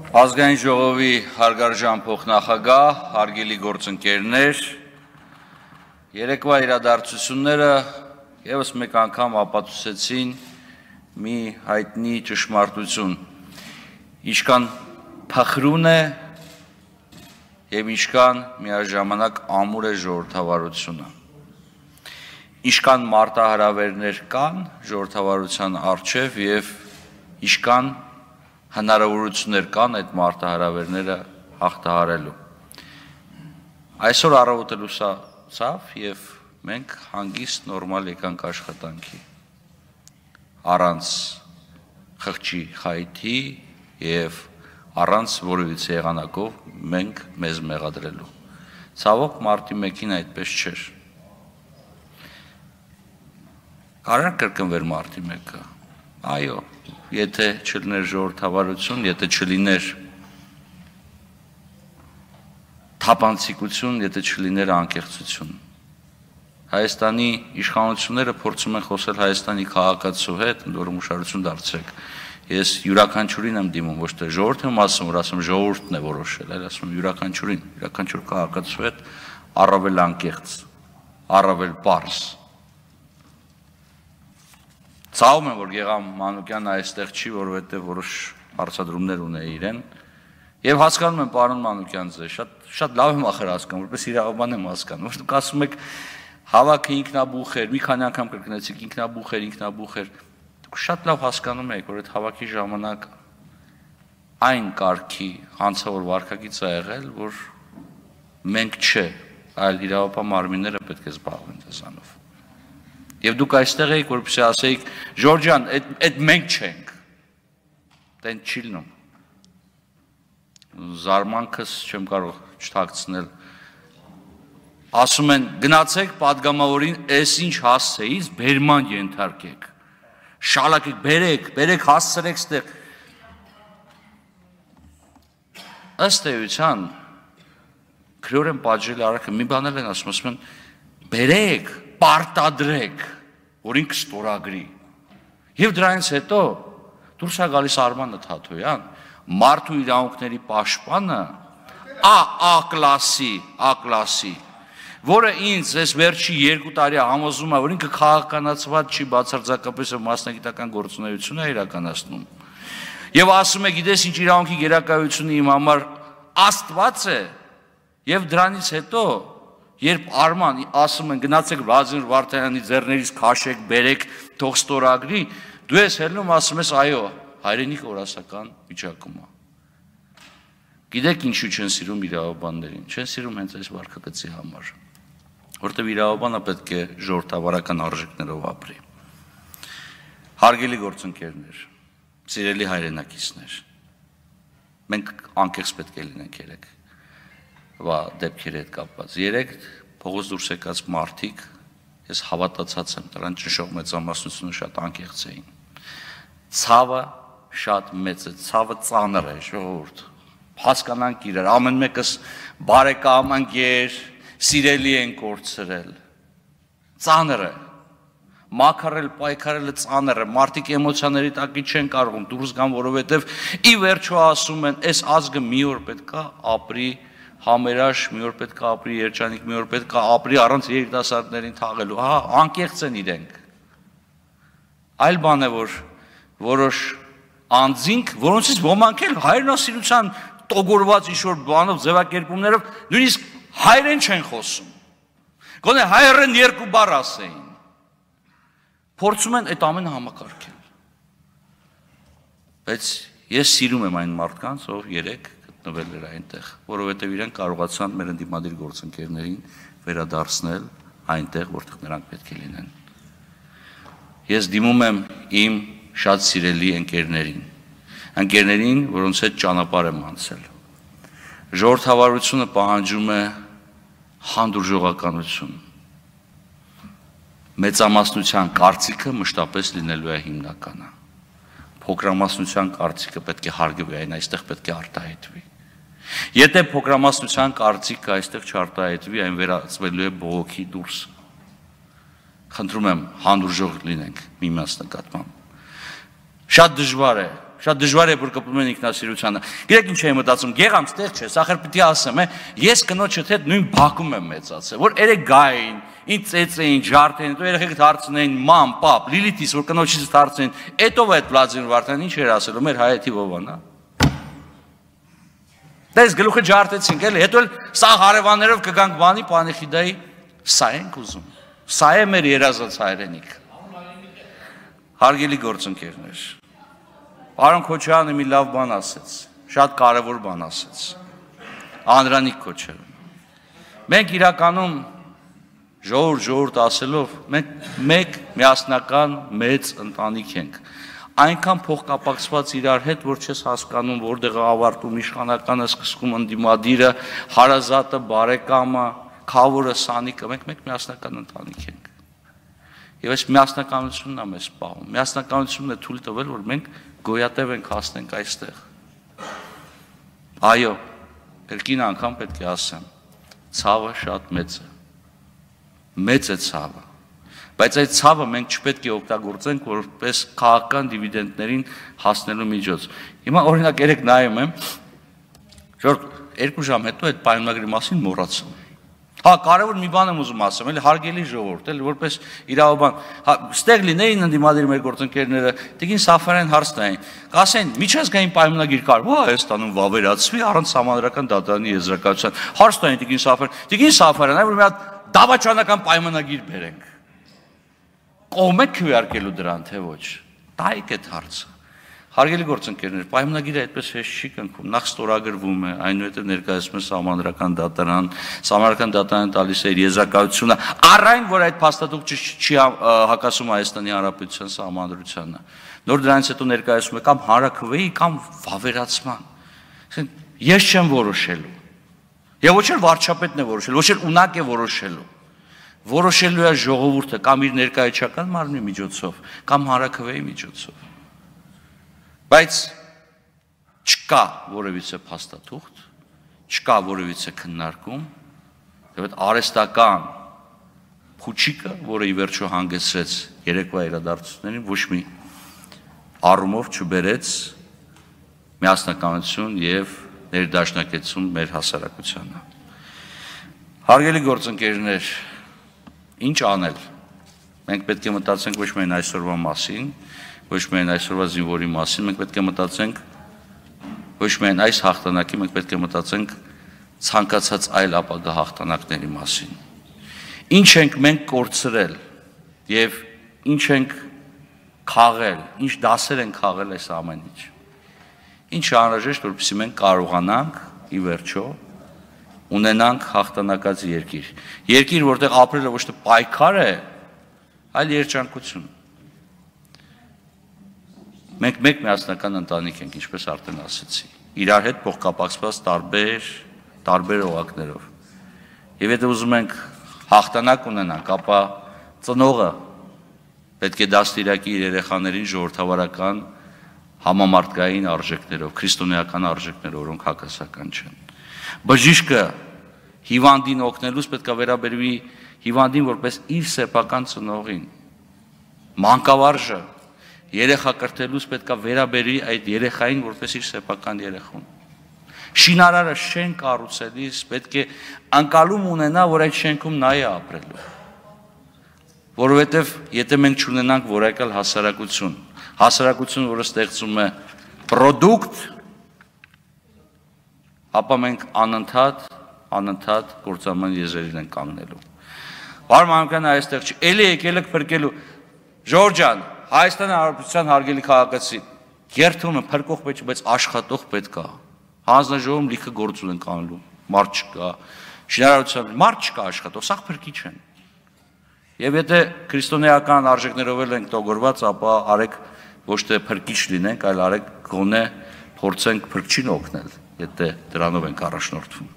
Ազգային ժողովի հարգարժան փոխնախագահ, հարգելի գործընկերներ, երեկվա իրադարձությունները ևս մեկ անգամ ապացուցեցին մի հայտնի ճշմարտություն, ինչքան փխրուն է եւ ինչքան միաժամանակ ամուր է ժողովրդավարությունը, ինչքան մարտահրավերներ կան ժողովրդավարության առջև եւ ինչքան հնարավորություններ կան այդ մարտահրավերները հաղթահարելու։ Այսօր առավոտը լուսացավ եւ մենք հանգիստ նորմալ եկանք աշխատանքի, առանց խղճի խայթի եւ առանց որևիցե եղանակով մենք մեզ մեղադրելու։ Ցավոք մարտի 1-ին այդպես չէր։ Կարա կրկնվեր մարտի 1-ը։ Այո, եթե չլիներ ժողովրդավարություն, եթե չլիներ թափանցիկություն, եթե չլիներ անկեղծություն։ Հայաստանի իշխանությունները փորձում են խոսել Հայաստանի քաղաքացու հետ, ընդ որում ուշադրություն դարձրեք։ Ես յուրաքանչյուրին եմ դիմում, ոչ թե ժողովրդի ասում, որ ասում ժողովուրդն է որոշել, այլ ասում յուրաքանչյուրին, յուրաքանչյուր քաղաքացու հետ առավել անկեղծ, առավել պարզ։ Ցավում եմ, որ Գեգամ Մանուկյանը այստեղ չի, որովհետև որոշ հարցադրումներ ունի իրեն, եւ հասկանում եմ, պարոն Մանուկյան, ձեզ շատ լավ եմ ախր հասկանում, որպես իրավաբան եմ հասկանում, որ դուք ասում եք հավաքը ինքնաբուխ էր, մի քանի անգամ կրկնեցիք ինքնաբուխ էր, դուք շատ լավ հասկանում եք, որ այդ հավաքի ժամանակ այն կարգի հանցավոր վարքագիծ ա եղել, որ մենք չէ, այլ իրավապահ մարմինները պետք է զբաղվեն դրանով։ Եվ դուք այստեղ եք, որպեսզի ասեիք, Ժորժան, այդ մենք չենք, դեն չի լինում։ Զարմանքս չեմ կարող չթաքցնել։ Ասում են, գնացեք պատգամավորին, այս ինչ հասցեից բերման ենթարկեք, շալակեք, բերեք, հասցրեք ստեղ։ Ըստ էության, քրեորեն պատժել արարքը մի բան են ասում են, բերեք, պարտադրեք, որ ինքը ստորագրի։ Եվ դրանից հետո դուրս է գալիս Արմանը Թաթոյան, մարդու իրավունքների պաշտպանը, A կլասի, որը ինձ այս վերջի 2 տարի համոզում է, որ ինքը քաղաքականացված չի, բացարձակապես մասնագիտական գործունեություն է իրականացնում։ Եվ ասում է, գիտես ինչ իրավունքի գերակայությունը իմ համար Աստված է, եւ դրանից հետո երբ Արման ասում են գնացեք Վլադիմիր Վարդանյանի ձեռներից քաշեք, բերեք, թող ստորագրի, դու ես հելնում ասում ես այո, հայրենիք օրասական վիճակում է։ Գիտեք ինչու չեն սիրում իրավաբաններին, չեն սիրում հենց այս վարքագծի համար, որտեղ իրավաբանը պետք է ժողովրդավարական արժեքներով ապրի։ Հարգելի գործընկերներ, սիրելի հայրենակիցներ, մենք անկեղծ պետք է լինենք երեք դեպքերի հետ կապված։ Երեք փողոց դուրս եկած մարդիկ, ես հավատացած եմ, դրան ճնշող մեծամասնությունը շատ անկեղծ էին։ Ցավը շատ մեծ է, ցավը ծանր է, ժողովուրդ։ Հասկանանք իրար, ամեն մեկս բարեկամ, ընկեր, սիրելի են կորցրել։ Ծանր է։ Մաքարել, պայքարելը ծանր է, մարդիկ էմոցիաների տակի չեն կարող դուրս գան, որովհետև ի վերջո ասում են, այս ազգը մի օր պետք է ապրի համերաշ, մի օր պետք է ապրի երջանիկ, մի օր պետք է ապրի առանց երիտասարդներին թաղելու, հա, անկեղծ են իրենք։ Այլ բան է, որ որոշ անձինք, որոնցից ոմանք էլ հայրենասիրության տոգորված ինչ-որ բանով, ձևակերպումներով, նույնիսկ հայերեն չեն խոսում։ Գոնե հայերեն 2 բառ ասեին։ Փորձում են այդ ամենը համակարգել։ Բայց ես սիրում եմ այն մարդկանց, ով երեք գտնվել էր այնտեղ, որովհետև իրենք կարողացան մեր ընդդիմադիր գործընկերներին վերադարձնել այնտեղ, որտեղ նրանք պետք է լինեն։ Ես դիմում եմ իմ շատ սիրելի ընկերներին, որոնց հետ ճանապարհ եմ անցել։ Ժողովրդավարությունը պահանջում է հանդուրժողականություն։ Մեծամասնության կարծիքը մշտապես լինելու է հիմնականը։ Փոքրամասնության կարծիքը պետք է հարգվի, այն այստեղ պետք է արտահայտվի։ Եթե փոքրամասնության կարծիքը այստեղ չարտահայտվի, այն վերածվելու է բողոքի դուրս։ Խնդրում եմ հանդուրժող լինենք միմյանց նկատմամբ։ Շատ դժվար է շատ դժվար է որ կպում են ինքնասիրությանը։ Գիտեք ինչ եմ մտածում, գեղամ ստեղ չէ, սա խրպիտի ասեմ, ես կնոջդ հետ նույն բակում եմ մեծացել, որ երեք գային, ինձ ծեծեին, ջարդեին, հետո երեխեքդ հարցնեին, մամ, պապ, Լիլիթիս, որ կնոջից հարցնեին, էտով այդ Վլադիմիր Վարդանին ինչ էր ասելու, մեր հայեթի ովան, հա։ Դες գլուխը ջարդեցինք, էլի, հետո էլ սա հարևաններով կգանք բանի Պանեխիդայի, սա ենք ուզում, սա է մեր երազած հայրենիք։ Հարգելի գործընկերներ, Պարոն Քոչարյանը մի լավ բան ասեց, շատ կարևոր բան ասեց, Անդրանիկ Քոչարյանը։ Մենք իրականում ժողովուրդ ասելով, մենք մեկ միասնական մեծ ընտանիք ենք, այնքան փոխկապակցված իրար հետ, որ չես հասկանում, որտեղ է ավարտում իշխանականը, սկսվում ընդդիմադիրը, հարազատը, բարեկամը, քավորը, սանիկը, մենք մեկ միասնական ընտանիք ենք։ Եվ այս միասնականությունն է մեզ պահում, միասնականությունն է թույլ տվել, որ մենք գոյատև ենք հասնենք այստեղ։ Այո, երկին անգամ պետք է ասեմ, ցավը շատ մեծ է ցավը, բայց այդ ցավը մենք չպետք է օգտագործենք որպես քաղաքական դիվիդենդներին հասնելու միջոց։ Հիմա օրինակ երեք նայում եմ, որ 2 ժամ հետո այդ պայմանագրի մասին մոռացա։ Հա, կարևոր մի բան եմ ուզում ասեմ, էլի հարգելի ժողովուրդ, էլի որպես իրավաբան, հա, ստեղ լինեին ընդդիմադիր մեր գործընկերները, Տիկին Սաֆարյան հարց տային, կասեն, միջազգային պայմանագիր կար, հա, Հայաստանում վավերացվի առանց Սահմանադրական դատարանի եզրակացության։ Հարց տային Տիկին Սաֆարյան, որ մի հատ դավաճանական պայմանագիր բերենք։ Կողմ եք քվեարկելու դրան, թե ոչ։ Տայեք այդ հարցը։ Հարգելի գործընկերներ, պայմանագիրը այդպես հեշտ չի կնքում, նախ ստորագրվում է, այնուհետև ներկայացում է Սահմանադրական դատարան, Սահմանադրական դատարանը տալիս է իր եզրակացությունը, առայն որ այդ փաստաթուղթը չի հակասում Հայաստանի Հանրապետության Սահմանադրությանը։ Նոր դրանից հետո ներկայացում է կամ հանրաքվեի կամ վավերացման։ Ես չեմ որոշելու։ Եվ ոչ էլ վարչապետն է որոշելու, ոչ էլ ունակ է որոշելու։ Որոշելու է ժողովուրդը կամ իր ներկայացական մարմնի միջոցով, կամ հանրաքվեի միջոցով։ Բայց չկա որևիցե փաստաթուղթ, չկա որևիցե քննարկում, եւ այդ արհեստական փուչիկը, որը ի վերջո հանգեցրեց երեկվա իրադարձություններին, ոչ մի առումով չբերեց միասնականություն եւ ներդաշնակեցում մեր հասարակությանը։ Հարգելի գործընկերներ, ինչ անել։ Մենք պետք է մտածենք ոչ միայն այսօրվա մասին, ոչ միայն այսօրվա զինվորի մասին, մենք պետք է մտածենք ոչ միայն այս հաղթանակի, մենք պետք է մտածենք ցանկացած այլ ապագա հաղթանակների մասին։ Ինչ ենք մենք կորցրել եւ ինչ ենք խաղել, ինչ դասեր ենք խաղել այս ամեն ինչ։ Ինչ անհրաժեշտ, որպեսզի մենք կարողանանք ի վերջո ունենանք հաղթանակած երկիր։ Երկիր, որտեղ ապրելը ոչ թե պայքար է, այլ երջանկություն։ Մենք մեկ միասնական ընտանիք ենք, ինչպես արդեն ասեցի, իրար հետ փոխկապակցված տարբեր օղակներով։ Եվ եթե ուզում ենք հաղթանակ ունենանք, ապա ծնողը պետք է դաստիարակի իր երեխաներին ժողովրդավարական համամարտկային արժեքներով, քրիստոնեական արժեքներով, որոնք հակասական չեն։ Բժիշկը հիվանդին օգնելուց պետք է վերաբերվի հիվանդին որպես իր սեփական ծնողին։ Մանկավարժը երեխա կրթելուց պետք է վերաբերվի այդ երեխային որպես իր սեփական երեխուն։ Շինարարը շենք կառուցելիս պետք է անկալում ունենա, որ այդ շենքում նա է ապրելու։ Որովհետև եթե մենք չունենանք որակյալ հասարակություն, որը ստեղծում է պրոդուկտ, ապա մենք անընդհատ գործարման եզերին ենք կանգնելու։ Պարոն Մանուկյանը այստեղ չի, էլի եկել եք փրկելու։ Ժորժ ջան, Հայաստանի Հանրապետության հարգելի քաղաքացի, երթում եմ փրկող պետք, բայց աշխատող պետք է։ Հանձնաժողովում լիքը գործ ունենք անելու, մարդ չկա, շինարարության մարդ չկա աշխատող, սա փրկիչ են։ Եվ եթե քրիստոնեական արժեքներով ենք տողորված, ապա արեք ոչ թե փրկիչ լինենք, այլ արեք գոնե փորձենք փրկչին օգնել, եթե դրանով ենք առաջնորդվում։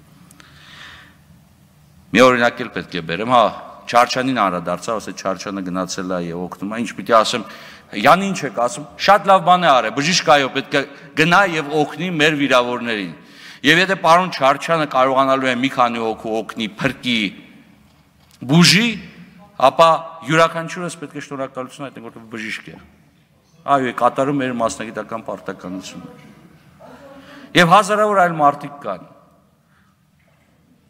Մի օրինակ էլ պետք է բերեմ, հա, Չարչյանին անդրադարձավ, ասեց Չարչյանը գնացել է եւ օգնում է, ինչ պիտի ասեմ, յանի ինչ եք ասում, շատ լավ բան է արել, բժիշկայով պետք է գնա եւ օգնի մեր վիրավորներին։ Եվ եթե պարոն Չարչյանը կարողանալու է մի քանի հոգու օգնի, փրկի, բուժի, ապա յուրաքանչյուրս պետք է շնորհակալություն հայտնենք, որտեղ բժիշկ է։ այո, կատարում մեր մասնագիտական պարտականությունը։ Եվ հազարավոր այլ մարդիկ կան։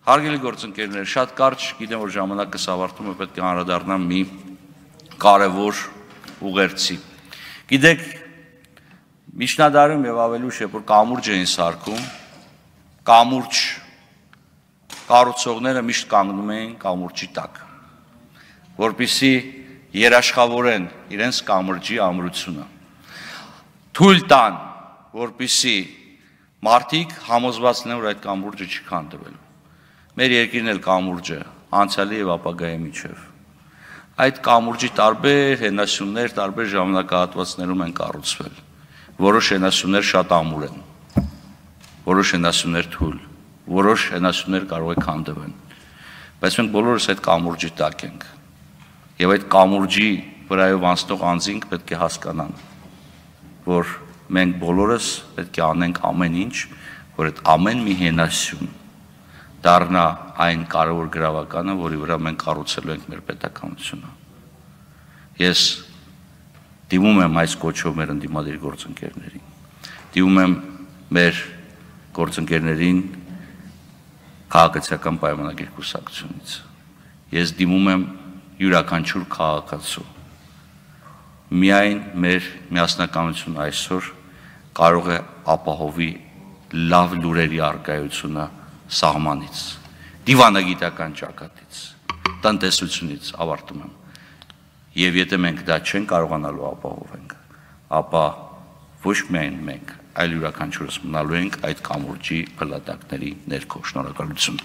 Հարգելի գործընկերներ, շատ կարճ, գիտեմ, որ ժամանակս ավարտում է, պետք է անդրադառնամ մի կարևոր ուղերձի։ Գիտեք, միջնադարում եւ ավելի ուշ, երբ որ կամուրջ էին սարքում, կամուրջ կառուցողները միշտ կանգնում էին կամուրջի տակ, որպեսզի երաշխավորեն իրենց կամրջի ամրությունը։ Թույլ տան, որպեսզի մարդիկ համոզված լինեն, որ այդ կամուրջը չի քանդվելու։ Մեր երկիրն էլ կամուրջ է, անցյալի եւ ապագայի միջև։ Այդ կամուրջի տարբեր հենասյուններ, տարբեր ժամանակահատվածներում են կառուցվել։ Որոշ հենասյուններ շատ ամուր են, որոշ հենասյուններ թույլ, որոշ հենասյուններ կարող է քանդվեն։ Բայց մենք բոլորս այդ կամուրջի տակ ենք։ Եվ այդ կամուրջի վրայով անցնող անձինք պետք է հասկանան, որ մենք բոլորս պետք է անենք ամեն ինչ, որ այդ ամեն մի հենասյուն դառնա այն կարևոր գրավականը, որի վրա մենք կառուցելու ենք մեր պետականությունը։ Ես դիմում եմ այս կոչով մեր ընդդիմադիր գործընկերներին, դիմում եմ մեր գործընկերներին քաղաքացիական պայմանագիր կուսակցությունից։ Ես դիմում եմ յուրաքանչյուր քաղաքացու։ Միայն մեր միասնականությունը այսօր կարող է ապահովի լավ լուրերի առկայությունը սահմանից, դիվանագիտական ճակատից, տնտեսությունից, ավարտում եմ։ Եվ եթե մենք դա չենք կարողանալու ապահովենք, ապա ոչ միայն մենք, այլ յուրաքանչյուրս մնալու ենք այդ կամուրջի փլատակների ներքո։ Շնորհակալություն։